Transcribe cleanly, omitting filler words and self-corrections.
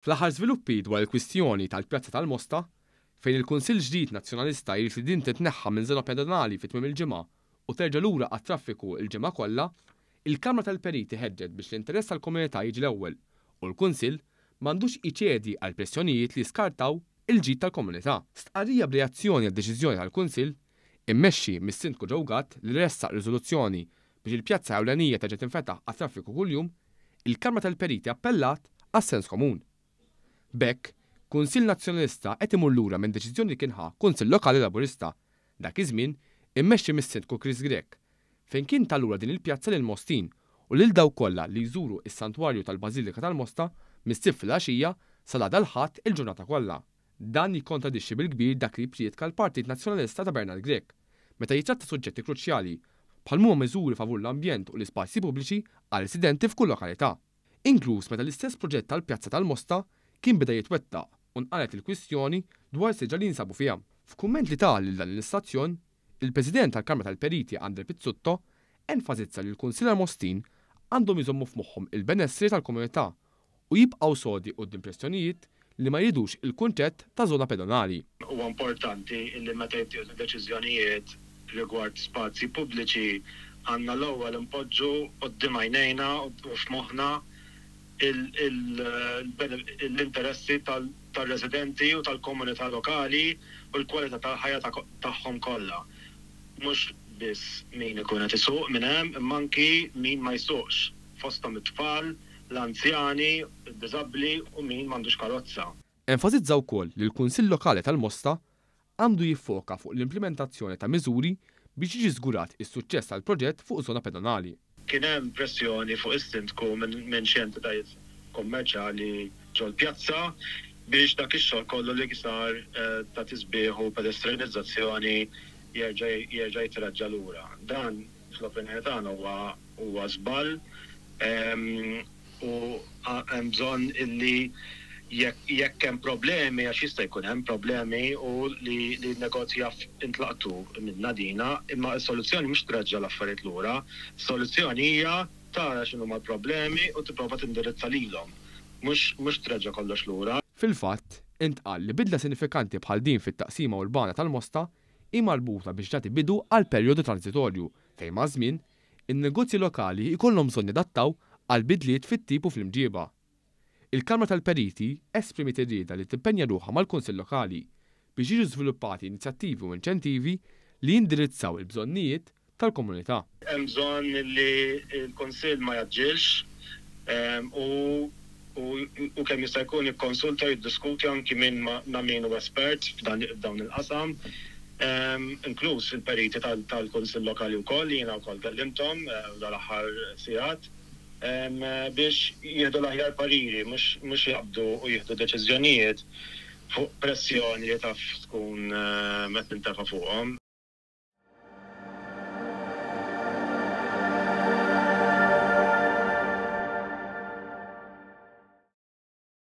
Fl-aħħar żviluppi dwar il-kwistjoni tal-Pjazza tal-Mosta, fejn il-Kunsill ġdid Nazzjonalista jrid li din titneħħa minn żona pedonali fi tmiem il-ġimgħa u terġa' lura għat-traffiku l-ġimgħa kollha, il-Kamra tal-Periti ħeġġet biex l-interess tal-komunità jiġi l-ewwel u l-Kunsill m'għandux iċedi għal pressjonijiet li jiskartaw il-ġid tal-komunità. Stqarrija b'reazzjoni għad-deċiżjoni tal-Kunsill, immexxi mis-Sindku Joe Gatt li ressaq riżoluzzjoni biex il-pjazza ewlenija terġa' tinfetaħ għat-traffiku kuljum, il-Kamra tal-Periti appellat għas-sens komun. B'hekk, Kunsill Nazzjonalista qed imur lura minn deċiżjoni li kien ħa Kunsill Lokali Laburista, dak iż-żmien immexxi mis-Sindku Chris Grech, fejn kien ta lura din il-pjazza lill-Mostin u lil dawk kollha li jżuru s-Santwarju tal-Bażilika tal-Mosta mis-Sibt filgħaxija sal-għada l-Ħadd il-ġurnata kollha. Dan jikkontradixxi bil-kbir dak li jipprietka l-Partit Nazzjonalista ta' Bernard Grech meta jittratta suġġetti kruċjali bħal m'huma miżuri favur l-ambjent u l-ispazji pubbliċi għar-residenti f'kull lokalità. Inkluż meta l-istess proġett tal-Pjazza tal-Mosta kien beda jitwettaq u nqalgħet il-kwistjoni dwar siġar li jinsabu fiha. F'kumment li ta lil dan l-istazzjon, il-President tal-Kamra tal-Periti Andre Pizzutto enfasizza li l-Kunsillar Mostin għandhom jżommu f'moħħhom il-benessri tal-komunità u jibqgħu sodi quddiem pressjonijiet li ma jridux il-kunċett ta' żona pedonali. Huwa importanti li meta jittieħdu deċiżjonijiet rigward spazji pubbliċi għandna l-ewwel inpoġġu quddiem għajnejna u f'moħħna l-interessi tar-residenti u tal-komunità lokali u l-kwalità tal-ħajja tagħhom kollha. Mhux biss min ikun qed isuq minn hemm imma anki min ma jsuqx, fosthom it-tfal, l-anzjani, id-diżabbli u min m'għandux karozza. Enfasizza wkoll li l-Kunsill Lokali tal-Mosta għandu jiffoka fuq l-implimentazzjoni ta' miżuri biex jiġi żgurat is-suċċess tal-proġett fuq żona pedonali. Kien hemm pressjoni fuq is-Sindku minn xi entitajiet kummerċjali ġol-pjazza biex dak ix-xogħol kollu li sar ta' tisbiħ u pedestranizzazzjoni jerġa' jerġa' jitreġġa' lura. Dan fl-opinjoni tagħna huwa huwa żball u hemm bżonn illi jekk hemm problemi, għax jista' jkun hemm problemi u li n-negozji jaf intlaqtu minnha dina, imma s-soluzzjoni mhux treġġa' l-affarijiet lura, is-soluzzjoni hija tara x'inhuma l-problemi u tipprova tindirizza lilhom, mhux mhux treġġa' kollox lura. Fil-fatt, intqal li bidla sinifikanti bħal din fit-taqsima urbana tal-Mosta hi marbuta biex tagħti bidu għal perjodu transitorju fejn maż-żmien, in-negozji lokali jkollhom bżonn jadattaw għal bidliet fit-tip u fl-imġieba. Il-Kamra tal-Periti esprimiet ir-rieda li timpenja ruħha mal-Kunsill Lokali biex jiġu żviluppati inizjattivi u inċentivi li jindirizzaw il-bżonnijiet tal-komunità. Hemm bżonn li l-Kunsill ma jgħaġġilx u u kemm jista' jkun jikkonsulta u jiddiskuti anki minn ma' min hu espert f'dawn il-qasam, inkluż il-periti tal-Kunsill Lokali wkoll li jiena wkoll kellimthom dal-aħħar sigħat, biex jieħdu l-aħjar pariri mhux jaqbdu u jieħdu deċiżjonijiet fuq pressjoni li taf tkun qed tintefa' fuqhom.